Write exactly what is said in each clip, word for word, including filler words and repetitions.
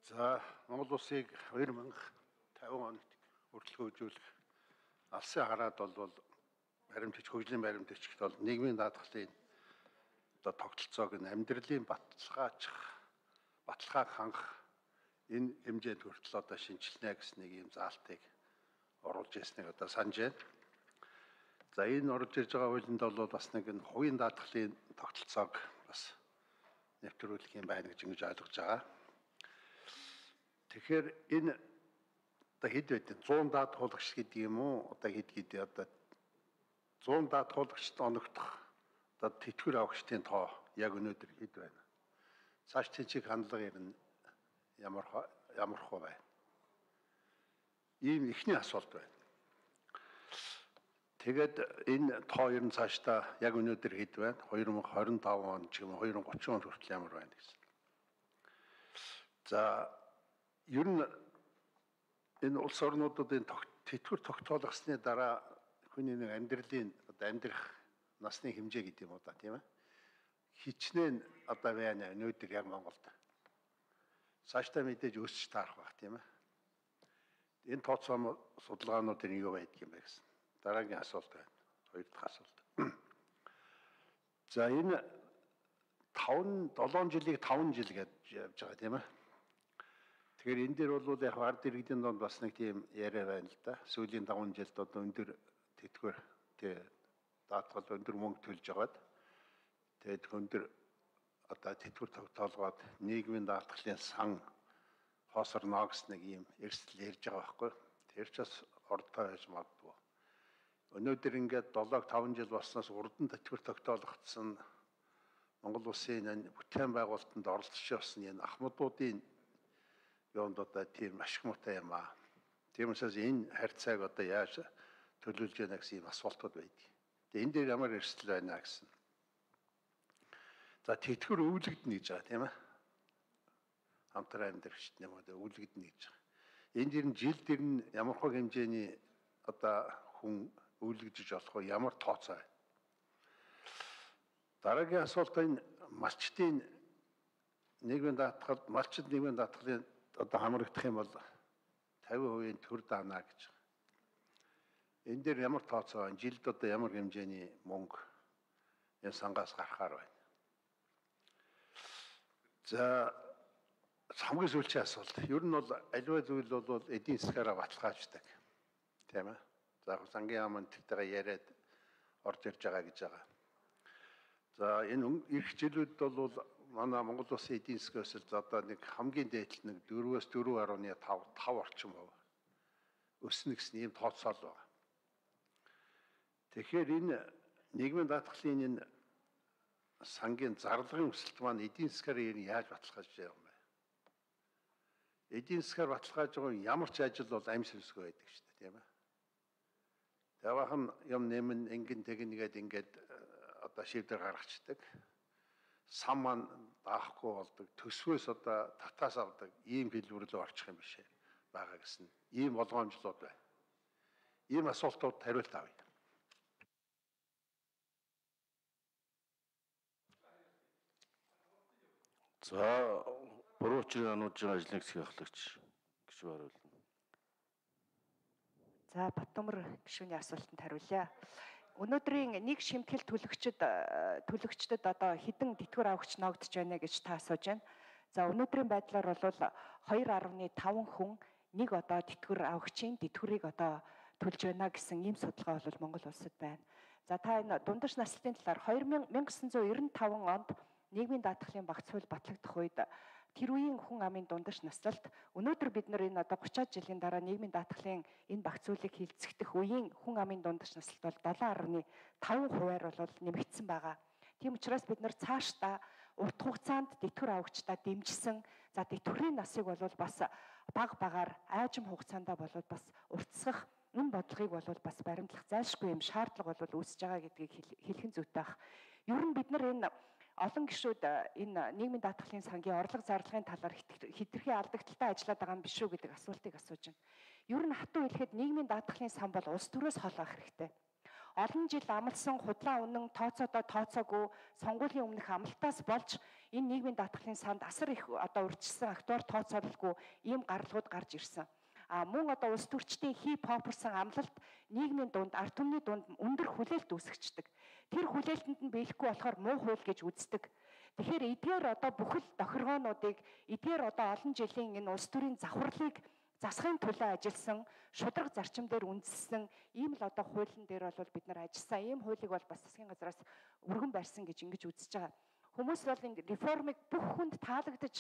За Монгол улсыг хоёр мянга тавин онд хүртэл хөгжүүлэх алсын хараад бол баримтч хөгжлийн баримтчд бол нийгмийн даатгалын одоо тогтолцоог нь амьдралын баталгаачих баталгааг хангах энэ хэмжээнд хүртэл одоо шинжилнэ гэсэн нэг юм заалтыг оруулж ирснийг одоо санаж байна. За энэ орж ирж байгаа хуулинд бол бас нэг нь хувийн даатгалын тогтолцоог бас нэвтрүүлэх юм байна гэж ингэж ойлгож байгаа. Тэгэхээр энэ одоо хэд байдэн зуун даатгуулагч гэдэг юм уу? Одоо хэд гэдэг одоо зуун даатгуулагчд оногдох одоо тэтгэвэр авагчдын тоо яг өнөөдөр хэд байна? Цааш тийчиг хандлага ирнэ ямар ямар хөө байна? Ийм ихний асуулт байна. Тэгээд энэ тоо ер нь цаашдаа яг өнөөдөр хэд байна? хоёр мянга хорин таван он ч юм уу хоёр мянга гучин он хүртэл ямар байна гэсэн. За ер нь энэ улс орнуудын тэтгэвэр тогтоолгосны дараа хүний нэг амьдралын одоо амьдрах насны хэмжээ гэдэг юм уу да тийм ээ. Хичнээн одоо байна өнөөдөр яг Монголд. Цаашдаа мэдээж өсч таарах байх тийм ээ. Энэ тооцоо судалгаануудын юу байдаг юм бэ гэсэн. Дараагийн асуулт байна. Хоёр дахь асуулт. За энэ таван долоон жилийг таван жил гэж явж байгаа тийм ээ. Тэгэхээр энэ дээр бол яг ард иргэдийн донд бас нэг тийм яриа байна л да. Сүүлийн таван жилд одоо өндөр тэтгэвэр тий даатгал өндөр мөнгө төлж байгаад тэгээд өндөр одоо тэтгэвэр тогтоолгоод нийгмийн даатгалын сан хоосорно гэсэн нэг юм эрсдэл ярьж байгаа байхгүй. Тэр ч бас ордтой байж магадгүй. Өнөөдөр ингээд долоог таван жил болсноос урдан тэтгэвэр тогтоолгогдсон Монгол улсын энэ бүтээн байгуулалтанд оролцож явсан энэ ахмадуудын юунд одоо тийм ашиг муутай юм аа. Тийм учраас энэ харьцааг одоо яаж төлөвлөж яана гэсэн юм асуултууд байдаг. Тэгээ энэ дээр ямар эрсдэл байна гэсэн. За тэтгэвэр өвлөгдөнө гэж байгаа тийм ээ. Хамтран амьдрагчд юм одоо өвлөгдөнө гэж байгаа. Энд дэр нь жил дэр нь ямар хөө хэмжээний одоо хүн өвлөгдөж болох вэ? Ямар тооцоо байна? Дараагийн асуулт энэ малчдын нийгмийн даатгал, малчд нийгмийн даатгалын одоо хамрагдах юм бол тавин хувийн төр даана гэж. Энэ дээр ямар тооцоо байна? Жилд одоо ямар хэмжээний мөнгө энэ сангаас гарахаар байна? За хамгийн сүүлчийн асуулт. Ер нь бол аливаа зүйл бол эдийн засгаараа баталгааждаг. Тийм ээ. За сангийн яамн тэртэйгээ яриад орж ирж байгаа гэж байгаа. За энэ ирэх жилүүд бол манай Монгол улсын эдийн засгаас л одоо нэг хамгийн дээдл нэг дөрвөөс дөрвөн гаруй тав тав орчим хувь өснө гэсэн ийм тооцоол байна. Тэгэхээр энэ нийгмийн даатгалын энэ сангийн зарлагын өсөлт маань эдийн засгаар яаж баталгаажж байгаа юм бэ? Эдийн засгаар баталгааж байгаа ямар ч ажил бол амь сүнсгүй байдаг шүү дээ, тийм ээ. Тавхан юм нэмэн ингэн тэгнгээд ингээд одоо шийдвэр гаргацдаг. Сан маань даахгүй болдог. Төсвөөс одоо татаас авдаг. Ийм хэлбэрлөө орчих юм биш ээ. Бага гэсэн. Ийм болгоомжлууд байна. Ийм асуултууд хариулт авъя. За буруу учрын ануужийн ажлын хэсгийн ахлагч гишүүн хариулна. За Батномор гишүүний асуултанд хариулъя. Өнөөдрийн нэг шимтгэл төлөгчд төлөгчдөд одоо хэдэн тэтгэвэр авагч ногдож байна гэж та асууж байна. За өнөөдрийн байдлаар бол хоёр гаруй таван хүн нэг одоо тэтгэвэр авагчийн тэтгэврийг одоо төлж байна гэсэн ийм судалгаа бол Монгол улсад байна. За та энэ дундаж наслалтын талаар мянга девятьсот девяносто пять онд нийгмийн даатгалын багц хууль батлагдах үед тэр үеийн хүн амын дундаж наслалт өнөөдөр бид нар энэ одоо гучаад жилийн дараа нийгмийн даатгалын энэ багц хуулийг хилцэгдэх үеийн хүн амын дундаж наслалт бол seven point five хувиар бол нэмэгдсэн байгаа. Тийм учраас бид нар цаашдаа урт хугацаанд тэтгэвэр авагчдаа дэмжсэн за тэтгэврийн насыг бол бас бага багаар айжим хугацаанд бол бас уртсгах энэ бодлогыг бол бас баримтлах зайлшгүй юм шаардлага бол үүсэж байгаа гэдгийг хэлхэн зүйтэй бах. Ер нь бид нар энэ олон гишүүд энэ нийгмийн даатгалын сангийн орлого зарлагын талаар хэтэрхий алдагдaltaй ажиллаад байгаа юм биш үү гэдэг асуултыг асууж байна. Ер нь хатуу хэлэхэд нийгмийн даатгалын сан бол улс төрөөс хол авах хэрэгтэй. аль нь жил амлсан худлаа үнэн тооцоодоо тооцоогүй сонгуулийн өмнөх амлалтаас болж энэ нийгмийн даатгалын санд асар их одоо урьдчилсан актуар тооцоололгүй ийм гаргалууд гарч ирсэн. А мөн одоо улс төрчдийн хип хопорсон амлалт нийгмийн дунд ард түмний дунд өндөр хүлээлт үүсгэждэг. Тэр хүлээлтэнд нь биелэхгүй болохоор муу хууль гэж үздэг. Тэгэхээр эдгээр одоо бүхэл тохиргоонуудыг эдгээр одоо олон жилийн энэ улс төрийн завхарлыг засахын төлөө ажилласан, шударга зарчим дээр үндэслэн ийм л одоо хуулийн дээр бол бид нар ажилласан. Ийм хуулийг бол бас засгийн газраас өргөн барьсан гэж ингэж үзэж байгаа. Хүмүүс бол энэ реформыг бүх хүнд таалагдаж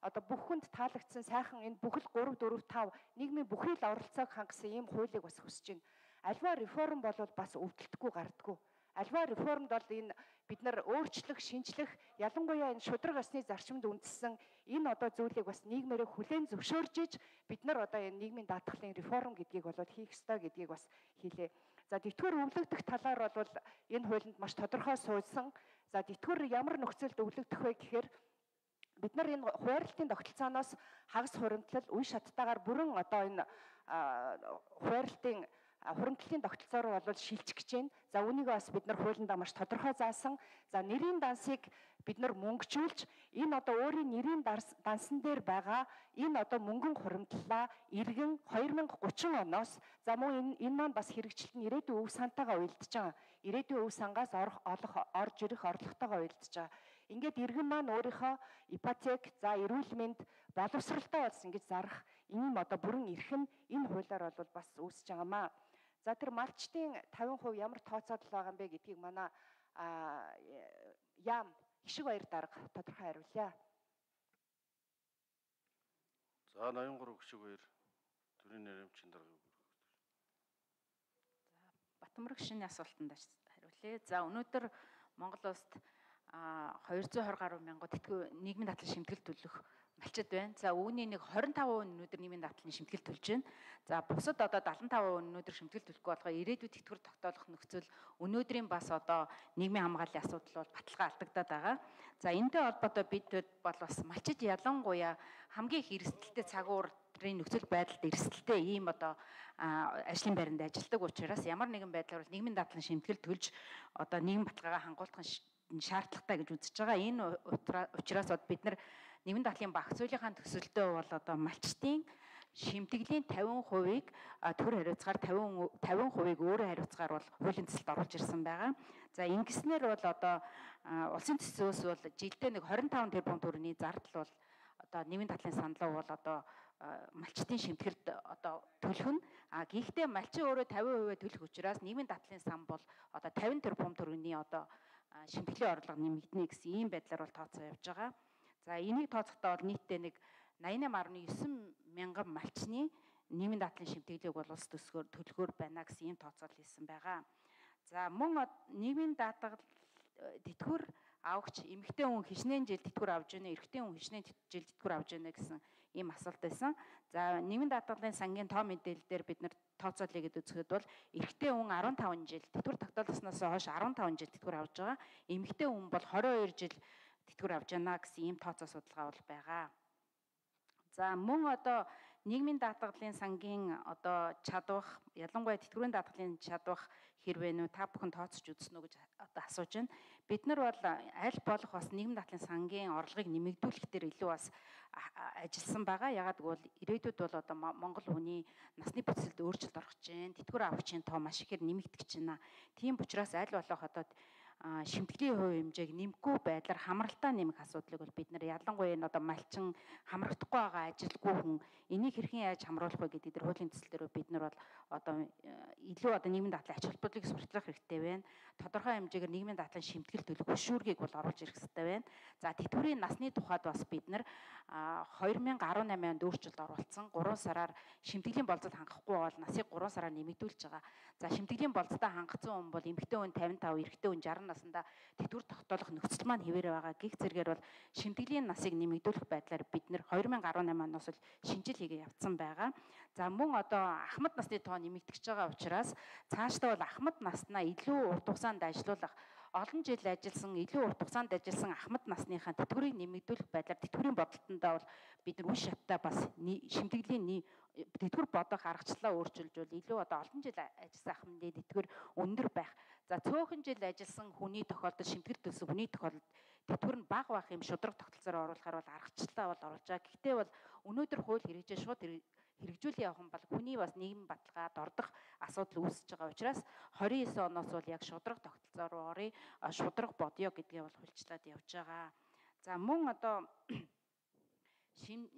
одоо бүх хүнд таалагдсан сайхан энэ бүхэл гурав дөрөв тав нийгмийн бүхий л оролцоог хангасан ийм хуулийг бас хүсэж байна. Альва реформ бол бас өвдөлтгүй гардаггүй. Альва реформд бол энэ бид нар өөрчлөх, шинжлэх, ялангуяа энэ шударга ёсны зарчимд үндэссэн энэ одоо зүйлийг бас нийгмээрээ хүлээн зөвшөөрж иж бид нар одоо энэ нийгмийн даатгалын реформ гэдгийг бол хийх ёстой гэдгийг бас хэлээ. За тэтгэвэр өвлөгдөх талаар бол энэ хуулинд маш тодорхой суулсан. За тэтгэвэр ямар нөхцөлд өвлөгдөх вэ гэхээр бид нар энэ хуваарлтын тогтолцооноос хагас хуримтлал үе шаттайгаар бүрэн одоо энэ хуваарлтын хуримтлалын тогтолцоо руу бол шилжих гэж байна. За үүнийг бас бид нар хуулиндаа маш тодорхой заасан. За нэрийн дансыг бид нар мөнгөжүүлж энэ одоо өөрийн нэрийн дансан дээр байгаа энэ одоо мөнгөн хуримтлалаа иргэн хоёр мянга гурван оноос за мөн энэ энэ маань бас хэрэгжилт нь ирээдүйн өв сантайгаа уялдаж байгаа. Ирээдүйн өв сангаас орох олох орж ирэх орлоготойгоо уялдаж байгаа. Ингээд иргэн маань өөрийнхөө ипотек, за эрүүл мэнд, боловсралтай болсон гэж зарах ийм одоо бүрэн эрх нь энэ хуулиар бол бас үүсэж байгаамаа. За тэр малчтын тавин хувь ямар тооцоодол байгаа юм бэ гэдгийг манай яам Хишиг Баяр дарга тодорхой хариулъя. За ноён гурав Хишиг Баяр төрийн нэрэмчин даргыг хүргэх. За Батмөрөг шинэ асуултанд хариулъя. За өнөөдөр Монгол улсад хоёр зуун хорин гаруй мянган тэтгэв нийгмийн даатгалын шимтгэл төлөх малчид байна. За үүний нэг хорин тав хувь өнөөдөр нийгмийн даатгалын шимтгэл төлж байна. За бусад одоо дадлан тав хувь өнөөдөр шимтгэл төлөхгүй болохоор ирээдүйд тэтгэвэр тогтоолох нөхцөл өнөөдрийн бас одоо нийгмийн хамгааллын асуудал бол баталгаа алдагдаад байгаа. За энэтэй холбоотой бид бол бас малчид ялангуяа хамгийн их эрсдэлтэй цагуурын нөхцөл байдалд эрсдэлтэй ийм одоо ажлын байранд ажилладаг учраас ямар нэгэн байдлаар бол нийгмийн даатгалын шимтгэл төлж одоо нийгэм баталгаагаа хангуулах шаардлагатай гэж үзэж байгаа. Энэ учраас бид нар нийгмийн даатгалын багц хуулийн төсөлтөө бол одоо малчтын шимтгэлийн тавин хувийг төр хариуцгаар тавин хувийг өөрөө хариуцгаар бол хуулийн төсөлд оруулж ирсэн байгаа. За ингэснээр бол одоо улсын төсөөс бол жилдээ нэг хорин таван тэрбум төгрөгийн зардал бол одоо нийгмийн даатгалын саналаа бол одоо малчтын шимтгэлд одоо төлөх нь а гэхдээ малчин өөрөө тавин хувийг төлөх учраас нийгмийн даатгалын сан бол одоо тавин тэрбум төгрөгийн одоо шимтгэлийн орлого нэмэгдэнэ гэсэн ийм байдлаар бол тооцоо явж байгаа. За энийг тооцохдоо бол нийтдээ нэг найман найман гаруй девять мянган малчны нийгмийн даатгалын шимтгэлийг бол улс төсгөөр төлөхөөр байна гэсэн ийм тооцоол хийсэн байгаа. За мөн нийгмийн даатгал тэтгэвэр авагч эмэгтэй хүн хичнээн жил тэтгэвэр авж байна, эрэгтэй хүн хичнээн жил тэтгэвэр авж байна гэсэн ийм асуулт байсан. За нийгмийн даатгалын сангийн тоо мэдээлэл дээр бид нар тооцоолъё гэдээ үзэхэд бол эрэгтэй хүн арван таван жил тэтгэвэр тогтоолсноос хойш арван таван жил тэтгэвэр авж байгаа. Эмэгтэй хүн бол хорин хоёр жил тэтгэвэр авж байна гэсэн ийм тооцоо судалгаа бол байгаа. За мөн одоо нийгмийн даатгалын сангийн одоо чадвах ялангуяа тэтгэврийн даатгалын чадвах хэрвээ нөө та бүхэн тооцож үзсэн үү гэж одоо асууж байна. Бид нар бол аль болох бас нийгмийн даатгалын сангийн орлогыг нэмэгдүүлэх дээр илүү бас ажилласан байгаа. Ягаад гэвэл ирээдүйд бол одоо Монгол хүний насны бүтцэлд өөрчлөлт орох гэж байна. Тэтгэвэр авахчийн тоо маш ихээр нэмэгдэх гэж байна. Тийм учраас аль болох одоо шимтгэлийн хувь хэмжээг нэмэхгүй байдлаар хамралтаа нэмэх асуудлыг бол бид нар ялангуяа энэ одоо малчин хамрагдахгүй байгаа ажилгүй хүн энийг хэрхэн яаж хамруулах вэ гэдэг дээр хуулийн төсөл дээр бид нар бол одоо илүү одоо нийгмийн даатгалын ач холбогдлыг сурталчилах хэрэгтэй байна. Тодорхой хэмжээгээр нийгмийн даатгалын шимтгэл төлөх хөшүүргийг бол оруулж ирэх хэрэгтэй байна. За тэтгэврийн насны тухайд бас бид нар хоёр мянга арван намын онд өөрчлөлт оруулсан. гурван сараар шимтгэлийн болцод хангахгүй бол насыг гурван сараар нэмэгдүүлж байгаа. За шимтгэлийн болцодоо хангацсан хүн бол эмэгтэй хүн тавин тав, эрэгтэй хүн жарган наснда тэтгэвэр тогтоолох нөхцөл маань хэвээр байгаа. Гэх зэргээр бол шимтгэлийн насыг нэмэгдүүлэх байдлаар бид нэр хоёр мянга арван намын оноос л шинжил хийгээ явцсан байгаа. За мөн одоо ахмад насны тоо нэмэгдэж байгаа учраас цаашдаа бол ахмад наснаа илүү урт хугацаанд ажилуулах олон жил ажилласан, илүү урт хугацаанд ажилласан ахмад насныхаа тэтгэврийг нэмэгдүүлэх байдлаар тэтгэврийн бодолтондоо бол бид нар үе шаттай бас шимтгэлийн тэтгэвэр бодох аргачлалаа өөрчилжүүл илүү одоо олон жил ажилласан ахмадын тэтгэвэр өндөр байх. За цөөхөн жил ажилласан хүний тохиолдолд шимтгэл төлсөн хүний тохиолдолд тэтгэвэр нь бага байх юм шудраг тогтолцоор оруулахаар бол аргачлалаа бол оруулж байгаа. Гэхдээ бол өнөөдөр хууль хэрэгжиж шууд хэрэгжүүлэх явах бол хүний бас нийгмийн баталгаад ордох асуудал үүсэж байгаа учраас хорин девять оноос бол яг шудраг тогтолцоо руу орё, шудраг бодё гэдгээ бол хуульчлаад явж байгаа. За мөн одоо шим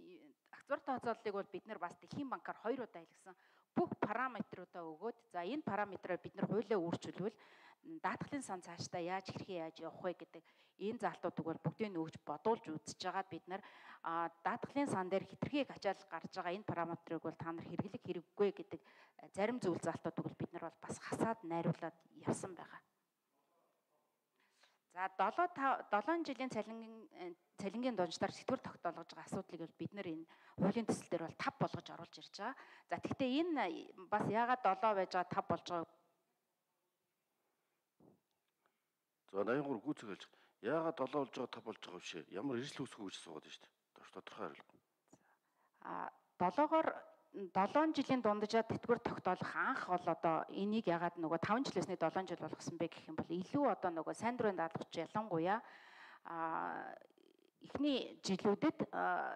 акцаар тооцооллыг бол бид нар бас Дэлхийн банкаар хоёр удаа хэлсэн бүх параметруудаа өгөөд за энэ параметраар бид нар хуулиа өөрчилвөл даатгалын сан цаашдаа яаж хэрхэн яаж явах вэ гэдэг энэ залтуудыг бол бүгдийг нь өгж бодуулж үзэж байгаа бид нар даатгалын сан дээр хэтэрхийг ачаал гарч байгаа энэ параметрыг бол та нар хэрэглэх хэрэггүй гэдэг зарим зүйл залтуудыг бол бид нар бол бас хасаад найруулад явсан байгаа. За долоон жилийн цалингийн цалингийн дунджаар сэтгүүр тогтоолгож байгаа асуудлыг бол бид нар энэ хуулийн төсөл дээр бол тав болгож оруулж ирж байгаа. За тэгвэл энэ бас яагаад долоо байж байгаа тав болж байгаа. За найман гурав гүйцэг хэлж яагаад долоо болж байгаа тав болж байгаа вэ? Ямар эрсдэл үүсгэх гэж суугаад байна шүү дээ. Тодорхой хариулт. А долоогоор долоон жилийн дунджаа тэтгэвэр тогтоолох анх бол одоо энийг ягаад нөгөө таван жилээсний долоон жил болгосон бэ гэх юм бол илүү одоо нөгөө сайн дурын даатгагч ялангуяа а эхний жилүүдэд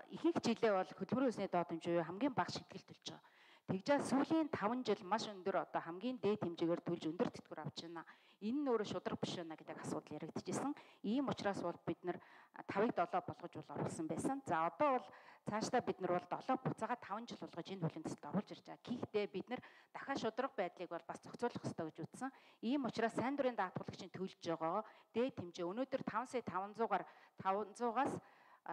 ихэнх жилээ бол хөдөлмөрийн өсний доод хэмжээ хамгийн бага шимтгэл төлж байгаа. Тэгжээ сүүлийн таван жил маш өндөр одоо хамгийн дээд хэмжээгээр төлж өндөр тэтгэвэр авч байна. Энэ нь өөрөө шудраг биш байна гэдэг асуудал яригдчихсэн. Ийм учраас бол бид нар тавыг долоо болгож бол оруулсан байсан. За одоо бол цаашдаа бид нар бол долоо буцаага таван жил болгож энэ хуулийн төсөлд оруулж ирж байгаа. Гэхдээ бид нар дахиад шудраг байдлыг бол бас зохицуулах ёстой гэж үзсэн. Ийм учраас сайн дурын даатгалагчийн төлж байгаа дээд хэмжээ өнөөдөр таван сая таван зуугаар таван зуугаас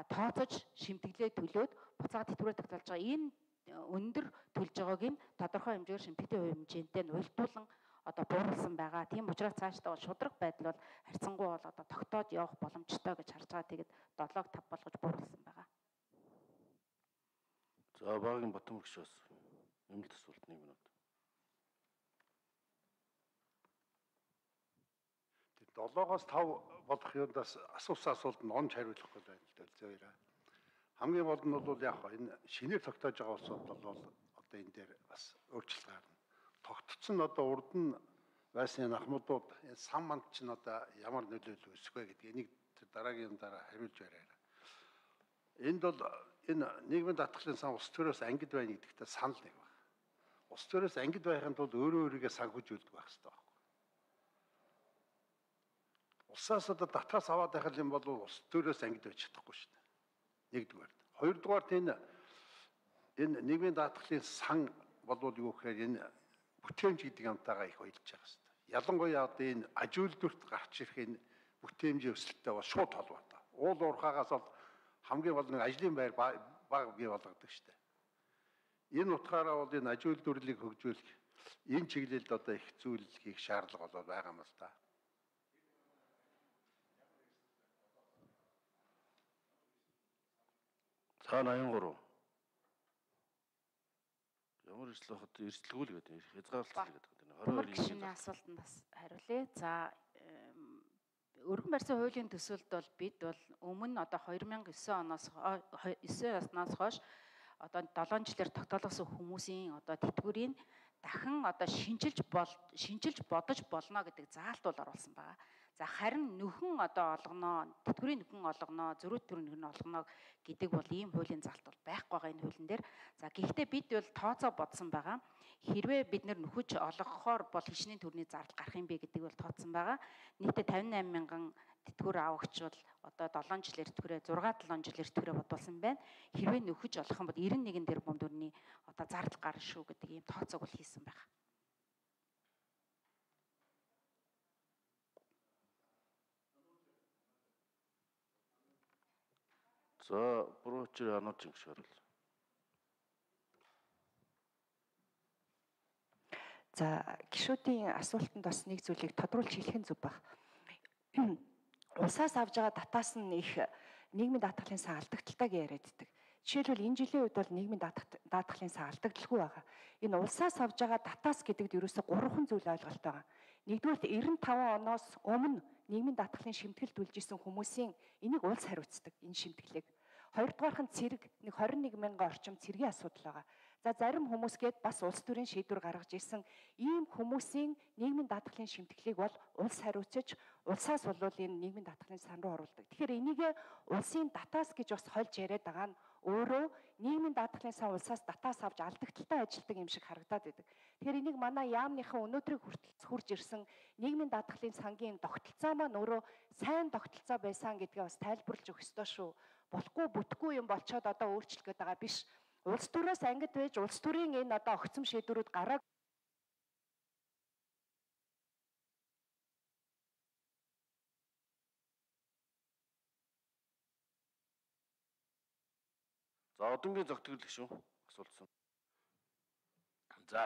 тооцож шимтгэлээ төлөөд буцаага тэтгэврээ тогтоолж байгаа. Энэ өндөр төлж байгааг нь тодорхой хэмжээгээр шимтгэлийн хувь хэмжээтэй нь уялдуулан одоо бууруулсан байгаа. Тийм учраас цаашдаа бол шудраг байдал бол харьцангуй бол одоо тогтоод явах боломжтой гэж харж байгаа. Тэгээд долоог тав болгож бууруулсан байгаа. За багийн Батмүрэг ш бас нэмэлт асуулт нэг минут. Тэгээд долоогоос тав болох юундаас асуусан асуулт нь онж хариулахгүй байна л дээ зөөрэ. Хамгийн гол нь бол яг энэ шинээр тогтоож байгаа улсууд бол одоо энэ дээр бас өөрчлөлт гарна. Тогтцсон нь одоо урд нь байсан ахмадууд энэ сан манд чинь одоо ямар нөлөөлөл үүсэх вэ гэдэг энийг дараагийн дараа хариулж яриараа. Энд бол энэ нийгмийн даатгалын сан улс төрөөс ангид байна гэдэгтээ санал нэг байна. Улс төрөөс ангид байхын тулд өөрөө өөрийгөө санхүүжүүлдэг байх хэрэгтэй байна. Улсаас одоо татгаас аваад байх юм бол улс төрөөс ангид байж чадахгүй шүү дээ. Нэгдүгээр. Хоёрдугаарт энэ энэ нийгмийн даатгалын сан болвол юу гэхээр энэ бүтээмж гэдэг юмтайгаа их уялдаж байгаа хэрэгтэй. Ялангуяа одоо энэ аж үйлдвэрт гарч ирэх энэ бүтээмжийн өсөлттэй бол шууд холбоотой. Уул уурхаагаас бол хамгийн гол нэг ажлын байр бага бий болгодог шүү дээ. Энэ утгаараа бол энэ аж үйлдвэрлэлийг хөгжүүлэх энэ чиглэлд одоо их зүйл хийх шаардлага бол байгаа юм л да. За найман гурав. Ямар эрсдэл хот эрсдэлгүй л гэдэг хязгаарлалт гэдэг байна. Батмүрэг гишүүний асуултанд бас хариулъя. За өргөн барьсан хуулийн төсөлд бол бид бол өмнө одоо two thousand nine оноос nine оноос хойш одоо долоон жилээр тогтоолгосон хүмүүсийн одоо тэтгэврийн дахин одоо шинжилж бол шинжилж бодож болно гэдэг заалт бол оруулсан байгаа. За харин нөхөн одоо олгоноо, тэтгэврийн нөхөн олгоноо, зөрүүт төр нөхөн олгоноо гэдэг бол ийм хуулийн залт бол байхгүй байгаа энэ хуулийн дээр. За гэхдээ бид бол тооцоо бодсон байгаа. Хэрвээ бид нэр нөхөж олгохоор бол хичнээн төрний зардал гарах юм бэ гэдэг бол тооцсон байгаа. Нийтдээ fifty-eight мянган тэтгэвэр авагч бол одоо seven жилээр тэтгэврээ six seven жилээр тэтгэврээ бодуулсан байна. Хэрвээ нөхөж олох юм бол ninety-one тэрбум төгрөгийн одоо зардал гарна шүү гэдэг ийм тооцоог бол хийсэн байгаа. За бурууч анууд жимш орол. За гишүүдийн асуултанд бас нэг зүйлийг тодруулж хэлэх нь зөв баг. Улсаас авж байгаа датаас нь их нийгмийн даатгалын сан алдагдaltaаг яриаддаг. Жишээлбэл энэ жилийн үед бол нийгмийн даатгалын сан алдагдaltaгүй байгаа. Энэ улсаас авж байгаа датаас гэдэгт ерөөсө гурван зүйл ойлголт байгаа. нэгдүгээр девяносто таван оноос өмнө нийгмийн даатгалын шимтгэлд үлж исэн хүмүүсийн энийг улс хариуцдаг энэ шимтгэлийг. Хоёрдугаарх нь цэрэг нэг двадцать one мянган орчим цэргийн асуудал байгаа. За зарим хүмүүс гээд бас улс төрийн шийдвэр гаргаж ирсэн ийм хүмүүсийн нийгмийн даатгалын шимтгэлийг бол улс хариуцаж улсаас болвол энэ нийгмийн даатгалын сан руу оруулдаг. Тэгэхээр энийг улсын датаас гэж бас хольж яриад байгаа нь өөрөө нийгмийн даатгалын сан улсаас датаас авч алдагдaltaй ажилтдаг юм шиг харагдаад байдаг. Тэгэхээр энийг манай яамныхан өнөөдрийг хүртэл хурж ирсэн нийгмийн даатгалын сангийн тогтолцоо маань өөрөө сайн тогтолцоо байсан гэдгээ бас тайлбарлаж өгөх ёстой шүү. Болохгүй бүтггүй юм болчоод одоо өөрчлөх гээд байгаа биш. Улс төрөөс ангид байж улс төрийн энэ одоо огцом шийдвэрүүд гараад За одонгийн зохицол шүү асуултсан. За